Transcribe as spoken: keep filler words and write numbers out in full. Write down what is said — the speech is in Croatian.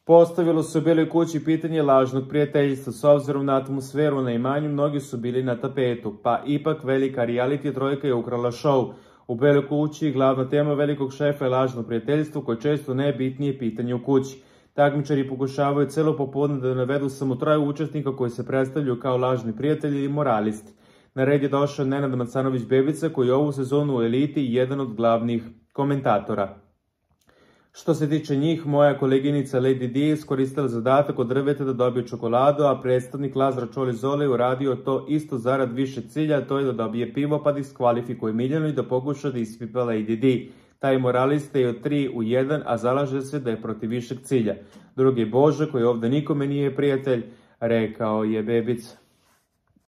Postavilo se u Beloj kući pitanje lažnog prijateljstva. S obzirom na atmosferu na imanju, mnogi su bili na tapetu, pa ipak velika reality trojka je ukrala show. U Beloj kući glavna tema velikog šefa je lažno prijateljstvo, koje često najbitnije pitanje u kući. Takmičari pokušavaju celo popodne da navedu samo troje učesnika koji se predstavljaju kao lažni prijatelji i moralisti. Na red je došao Nenad Macanović-Bebica, koji je ovu sezonu u eliti jedan od glavnih komentatora. Što se tiče njih, moja koleginica Lady D je iskoristila zadatak od drveta da dobije čokoladu, a predstavnik Lazara Čoli Zole je uradio to isto zarad više cilja, to je da dobije pivo pa diskvalifikuje Miljanu i da pokuša da ispipa Lady D. Taj moralista je od tri u jedan, a zalaže se da je protiv višeg cilja. Drugi je Bože, koji ovde nikome nije prijatelj, rekao je Bebica.